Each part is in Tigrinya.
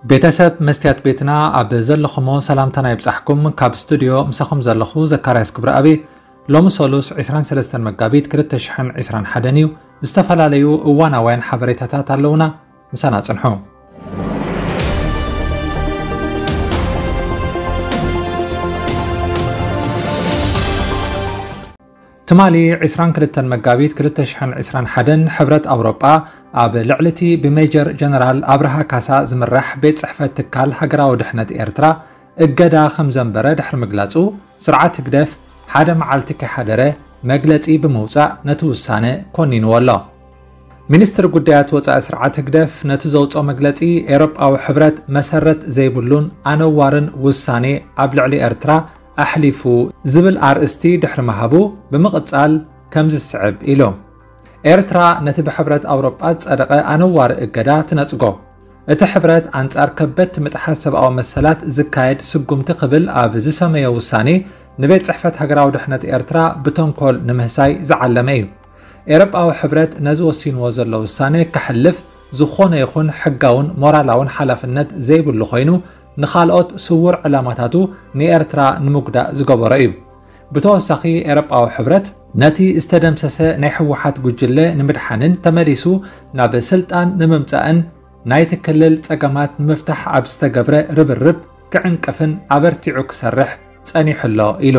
ቤተሰብ መስትያት ቤትና ኣብ ዘለኹሞ ሰላምታና ይብጻሕኩም። ካብ ስቱዲዮ ምሳኹም ዘለኹ ዘካርያስ ክብረኣብ። ሎሚ ሰሉስ ዕስራን ሰለስተን መጋቢት ክልተ ሽሕን ዕስራን ሓደን እዩ። ዝተፈላለዩ እዋናውያን ሓበሬታታት ኣለዉና። ምሳና ጽንሑ። ትማሊ ዕስራን ክልተን መጋቢት ክልተ ሽሕን ዕስራን ሓደን ሕብረት ኣውሮጳ ኣብ ልዕሊ እቲ ብሜጀር ጀነራል ኣብርሃ ካሳ ዝምራሕ ቤት ጽሕፈት ትካል ሃገራዊ ድሕነት ኤርትራ እገዳ ከም ዘንበረ ድሕሪ ምግላጹ፣ ስርዓት ህግደፍ ሓደ መዓልቲ ከይሓደረ መግለጺ ብምውጻእ ነቲ ውሳነ ኮኒንዎ ኣሎ። ሚኒስትሪ ጉዳያት ወጻኢ ስርዓት ህግደፍ ነቲ ዘውጽኦ መግለጺ፣ ኤውሮጳዊ ሕብረት መሰረት ዘይብሉን ኣነዋርን ውሳኔ ኣብ ልዕሊ ኤርትራ ኣሕሊፉ ዝብል ኣርእስቲ ድሕሪ ምሃቡ፣ ብምቕጻል ከምዚ ዝስዕብ ኢሉ። ኤርትራ ነቲ ብሕብረት ኣውሮጳ ዝጸደቐ ኣነዋሪ እገዳ ትነጽጎ። እቲ ሕብረት ኣንጻር ከበድቲ ምጥሓስ ሰብኣዊ መሰላት ዝካየድ ስጉምቲ ክብል ኣብ ዝሰመዮ ውሳኔ፣ ንቤት ጽሕፈት ሃገራዊ ድሕነት ኤርትራ ብተንኮል ንምህሳይ ዝዓለመ እዩ። ኤውሮጳዊ ሕብረት ነዚ ወሲንዎ ዘሎ ውሳኔ ከሕልፍ ዝኾነ ይኹን ሕጋውን ሞራላውን ሓላፍነት ዘይብሉ ኮይኑ፣ ንኻልኦት ስዉር ዕላማታቱ ንኤርትራ ንምጉዳእ ዝገበሮ እዩ። ብተወሳኺ፣ ኤውሮጳዊ ሕብረት ነቲ ዝተደምሰሰ ናይ ህወሓት ጉጅለ ንምድሓንን ተመሊሱ ናብ ስልጣን ንምምጻእን ናይቲ ክልል ጸገማት ንምፍታሕ ኣብ ዝተገብረ ርብርብ ክዕንቅፍን ኣበርቲዑ ክሰርሕ ጸኒሑ ኣሎ ኢሉ።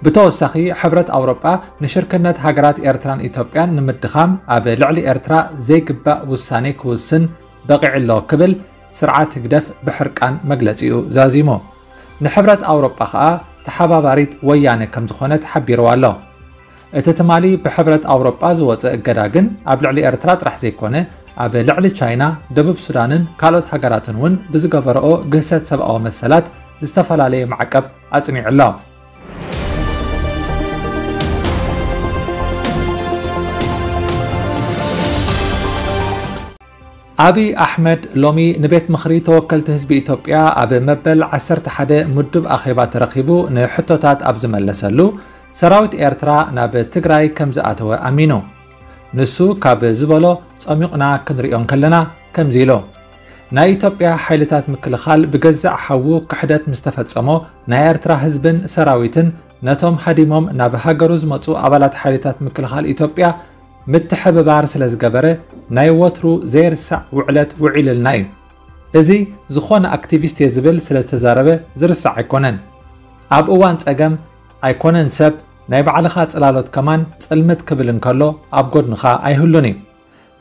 ብተወሳኺ፣ ሕብረት ኣውሮጳ ንሽርክነት ሃገራት ኤርትራን ኢትዮጵያን ንምድኻም ኣብ ልዕሊ ኤርትራ ዘይግባእ ውሳኔ ክውስን በቒዑ ኣሎ ክብል ስርዓት ህግደፍ ብሕርቃን መግለጺኡ ዛዚሙ። ንሕብረት ኣውሮጳ ከኣ ተሓባባሪት ወያነ ከም ዝኾነት ሓቢርዋ ኣሎ። እቲ ትማሊ ብሕብረት ኣውሮጳ ዝወጸ እገዳ ግን ኣብ ልዕሊ ኤርትራ ጥራሕ ዘይኮነ፣ ኣብ ልዕሊ ቻይና፣ ደቡብ ሱዳንን ካልኦት ሃገራትን እውን ብዝገበረኦ ግህሰት ሰብኣዊ መሰላት ዝተፈላለየ ማዕቀብ ኣጽኒዑ ኣሎ። ኣብይ ኣሕመድ ሎሚ ንቤት ምኽሪ ተወከልቲ ህዝቢ ኢትዮጵያ ኣብ መበል ዓሰርተ ሓደ ምዱብ ኣኼባ ተረኺቡ ንሕቶታት ኣብ ዝመለሰሉ፣ ሰራዊት ኤርትራ ናብ ትግራይ ከም ዝኣተወ ኣሚኑ። ንሱ ካብ ዝበሎ ጸሚቕና ክንሪኦ እንከለና ከምዚ ኢሉ። ናይ ኢትዮጵያ ሓይልታት ምክልኻል ብገዛእ ሓዉ ክሕደት ምስ ተፈጸሞ፣ ናይ ኤርትራ ህዝብን ሰራዊትን ነቶም ሃዲሞም ናብ ሃገሩ ዝመጹ ኣባላት ሓይልታት ምክልኻል ኢትዮጵያ ምትሕብባር ስለ ዝገበረ፣ ናይ ወትሩ ዘይርሳዕ ውዕለት ውዒልልና እዩ። እዚ ዝኾነ ኣክቲቪስት እየ ዝብል ስለ ዝተዛረበ ዝርሳዕ ኣይኮነን። ኣብ እዋን ጸገም ኣይኮነን ሰብ፣ ናይ ባዕልኻ ጽላሎት ከማን ጽልምት ክብል እንከሎ ኣብ ጎድንኻ ኣይህሉን እዩ።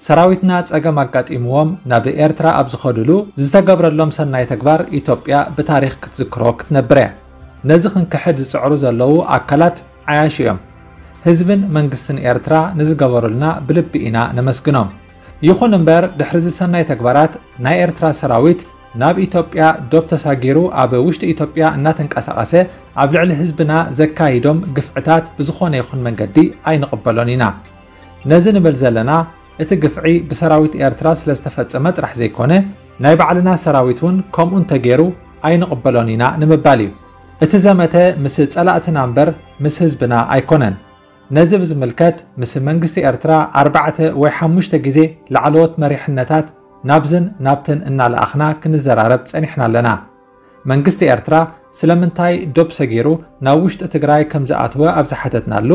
ሰራዊትና ጸገም ኣጋጢምዎም ናብ ኤርትራ ኣብ ዝኸዱሉ ዝተገብረሎም ሰናይ ተግባር ኢትዮጵያ ብታሪኽ ክትዝክሮ ክትነብር እያ። ነዚ ክንክሕድ ዝጽዕሩ ዘለዉ ኣካላት ዓያሹ እዮም። ህዝብን መንግስትን ኤርትራ ንዝገበሩልና ብልቢ ኢና ነመስግኖም። ይኹን እምበር፣ ድሕሪ እዚ ሰናይ ተግባራት ናይ ኤርትራ ሰራዊት ናብ ኢትዮጵያ ዶብ ተሳጊሩ ኣብ ውሽጢ ኢትዮጵያ እናተንቀሳቐሰ ኣብ ልዕሊ ህዝብና ዘካይዶም ግፍዕታት ብዝኾነ ይኹን መንገዲ ኣይንቕበሎን ኢና። ነዚ ንብል ዘለና፣ እቲ ግፍዒ ብሰራዊት ኤርትራ ስለ ዝተፈጸመ ጥራሕ ዘይኮነ፣ ናይ ባዕልና ሰራዊት እውን ከምኡ እንተገይሩ ኣይንቕበሎን ኢና ንምባል እዩ። እቲ ዘመተ ምስ ጸላእትና እምበር ምስ ህዝብና ኣይኮነን። ነዚ ብዝምልከት ምስ መንግስቲ ኤርትራ ኣርባዕተ ወይ ሓሙሽተ ግዜ ላዕለዎት መሪሕነታት ናብዝን ናብትን እናለኣኽና ክንዘራረብ ጸኒሕና ኣለና። መንግስቲ ኤርትራ ስለምንታይ ዶብ ሰጊሩ ናብ ውሽጢ ትግራይ ከም ዝኣተወ ኣብ ዝሓተትናሉ፣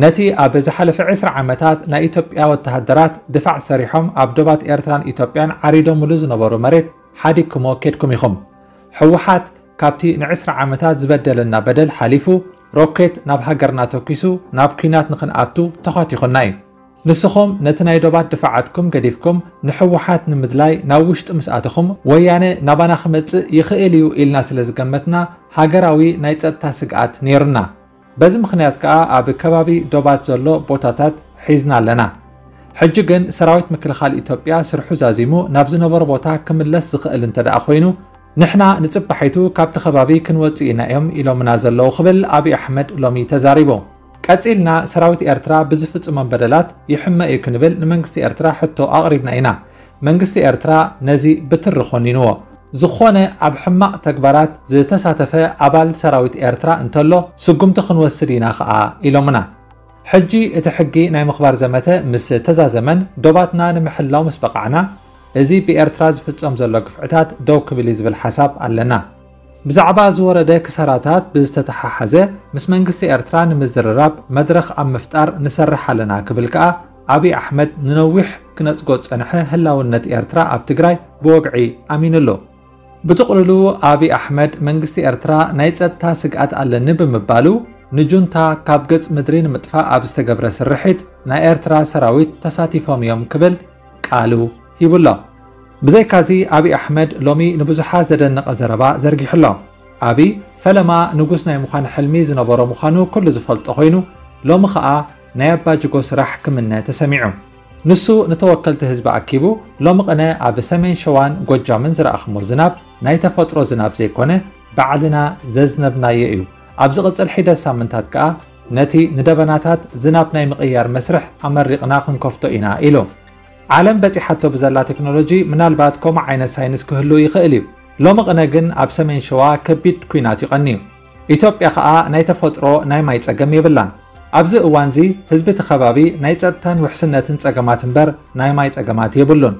ነቲ ኣብ ዝሓለፈ ዕስራ ዓመታት ናይ ኢትዮጵያ ወተሃደራት ድፋዕ ሰሪሖም ኣብ ዶባት ኤርትራን ኢትዮጵያን ዓሪዶምሉ ዝነበሩ መሬት ሓዲግኩሞ ኬድኩም ኢኹም። ህወሓት ካብቲ ንዕስራ ዓመታት ዝበደለና በደል ሓሊፉ፣ ሮኬት ናብ ሃገርና ተኲሱ ናብ ኲናት ንኽንኣቱ ተዃቲኹና እዩ። ንስኹም ነቲ ናይ ዶባት ድፋዓትኩም ገዲፍኩም ንህወሓት ንምድላይ ናብ ውሽጢ ምስ ኣተኹም፣ ወያነ ናባና ክመጽእ ይኽእል እዩ ኢልና ስለ ዝገመትና፣ ሃገራዊ ናይ ጸጥታ ስግኣት ነይሩና። በዚ ምኽንያት ከኣ ኣብ ከባቢ ዶባት ዘሎ ቦታታት ሒዝና ኣለና። ሕጂ ግን ሰራዊት ምክልኻል ኢትዮጵያ ስርሑ ዛዚሙ ናብ ዝነበሮ ቦታ ክምለስ ዝኽእል እንተ ደኣ ኮይኑ፣ ንሕና ንጽባሒቱ ካብቲ ከባቢ ክንወጽእ ኢና እዮም ኢሎምና ዘለዉ ክብል ኣብይ ኣሕመድ ሎሚ ተዛሪቡ። ቀጺልና ሰራዊት ኤርትራ ብዝፍጽሞም በደላት ይሕመ እዩ ክንብል ንመንግስቲ ኤርትራ ሕቶ ኣቕሪብና ኢና። መንግስቲ ኤርትራ ነዚ ብትሪ ኮኒንዎ። ዝኾነ ኣብ ሕማቕ ተግባራት ዝተሳተፈ ኣባል ሰራዊት ኤርትራ እንተሎ ስጉምቲ ክንወስድ ኢና ኸኣ ኢሎምና። ሕጂ እቲ ሕጊ ናይ ምኽባር ዘመተ ምስ ተዛዘመን ዶባትና ንምሕላው ምስ በቓዕና፣ እዚ ብኤርትራ ዝፍጸም ዘሎ ግፍዕታት ደው ክብል እዩ ዝብል ሓሳብ ኣለና። ብዛዕባ ዝወረደ ክሳራታት ብዝተተሓሓዘ፣ ምስ መንግስቲ ኤርትራ ንምዝርራብ መድረኽ ኣብ ምፍጣር ንሰርሕ ኣለና ክብል ከኣ፣ ኣብይ ኣሕመድ ንነዊሕ ክነጽጎ ዝጸንሐ ህላውነት ኤርትራ ኣብ ትግራይ ብወግዒ ኣሚኑሉ። ብጥቕልሉ፣ ኣብይ ኣሕመድ መንግስቲ ኤርትራ ናይ ጸጥታ ስግኣት ኣለኒ ብምባሉ፣ ንጁንታ ካብ ገጽ ምድሪ ንምጥፋእ ኣብ ዝተገብረ ስርሒት ናይ ኤርትራ ሰራዊት ተሳቲፎም እዮም ክብል ቃሉ ሂቡሎ። ብዘይካዚ፣ ኣብይ ኣሕመድ ሎሚ ንብዙሓት ዘደነቐ ዘረባ ዘርጊሑሎ። ኣብይ፣ ፈለማ ንጉስ ናይ ምዃን ሕልሚ ዝነበሮ ምዃኑ ኩሉ ዝፈልጦ ኮይኑ፣ ሎሚ ኸኣ ናይ ኣባጅጎ ስራሕ ክምነ ተሰሚዑ። ንሱ ንተወከልቲ ህዝቢ ኣኪቡ፣ ሎሚ ቅነ ኣብ ሰሜን ሸዋን ጎጃምን ዝረኣኽሞ ዝናብ ናይ ተፈጥሮ ዝናብ ዘይኮነ፣ ባዕልና ዘዝነብናዮ እዩ። ኣብ ዝቕጽል ሒደት ሳምንታት ከኣ ነቲ ንደበናታት ዝናብ ናይ ምቕያር መስርሕ ኣመሪቕና ክንከፍቶ ኢና ኢሉ። ዓለም በጺሓቶ ብዘላ ቴክኖሎጂ ምናልባት ከምኡ ዓይነት ሳይንስ ክህሉ ይኽእል እዩ። ሎሚ ቅነ ግን ኣብ ሰሜን ሸዋ ከቢድ ኲናት እዩ ቀንዩ። ኢትዮጵያ ኸኣ ናይ ተፈጥሮ ናይ ማይ ጸገም የብላን። ኣብዚ እዋንዚ ህዝቢ እቲ ከባቢ ናይ ጸጥታን ውሕስነትን ጸገማት እምበር ናይ ማይ ጸገማት የብሉን።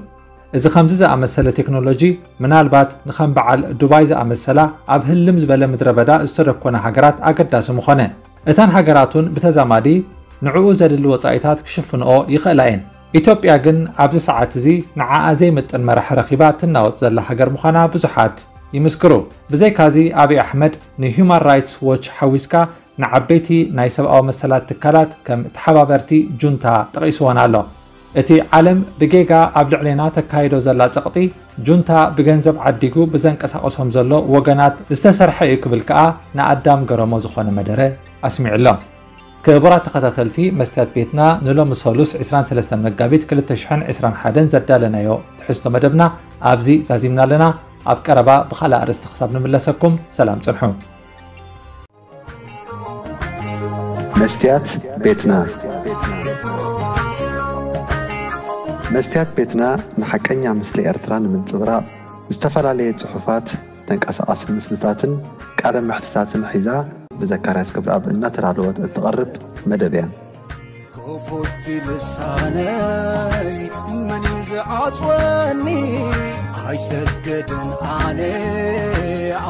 እዚ ከምዚ ዝኣመሰለ ቴክኖሎጂ ምናልባት ንኸም በዓል ዱባይ ዝኣመሰላ ኣብ ህልም ዝበለ ምድረ በዳ ዝተደኮና ሃገራት ኣገዳሲ ምኾነ። እተን ሃገራት እውን ብተዛማዲ ንዕኡ ዘድሊ ወጻኢታት ክሽፍንኦ ይኽእላ እየን። ኢትዮጵያ ግን ኣብዚ ሰዓት እዚ ንዓኣ ዘይምጥን መራሒ ረኺባ ትናወጽ ዘላ ሃገር ምዃና ብዙሓት ይምስክሩ። ብዘይካዚ ኣብይ ኣሕመድ ንሂዩማን ራይትስ ዎች ሓዊስካ ንዓበይቲ ናይ ሰብኣዊ መሰላት ትካላት ከም ተሓባበርቲ ጁንታ ጠቒስወን ኣሎ። እቲ ዓለም ብጌጋ ኣብ ልዕሌና ተካይዶ ዘላ ጸቕጢ ጁንታ ብገንዘብ ዓዲጉ ብዘንቀሳቐሶም ዘሎ ወገናት ዝተሰርሐ እዩ ክብል ከኣ ንኣዳም ገረሞ ዝኾነ መደረ ኣስሚዑ ኣሎ። ክቡራት ተኸታተልቲ መስትያት ቤትና ንሎሚ ሰሉስ ዕስራን ሰለስተን መጋቢት ክልተ ሽሕን ዕስራን ሓደን ዘዳለናዮ ትሕዝቶ መደብና ኣብዚ ዛዚምና ኣለና። ኣብ ቀረባ ብኻልእ ኣርእስቲ ክሳብ ንምለሰኩም ሰላም ጽንሑ። መስትያት ቤትና። መስትያት ቤትና ንሓቀኛ ምስሊ ኤርትራ ንምንጽብራቕ ዝተፈላለየ ጽሑፋት፣ ተንቀሳቓሲ ምስልታትን ቃለ መሕትታትን ሒዛ ብዘካርያስ ክብረኣብ እናተዳለወት እትቐርብ መደብ እያ። ክፉት ልሳነይ መን እዩ ዝዓጽወኒ? ኣይሰግድን ኣነ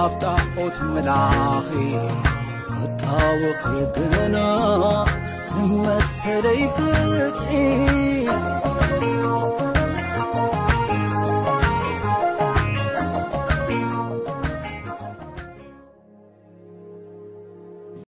ኣብ ጣዖት ምላኺ ክጣወኺ ግና ንመሰለይ ፍትሒ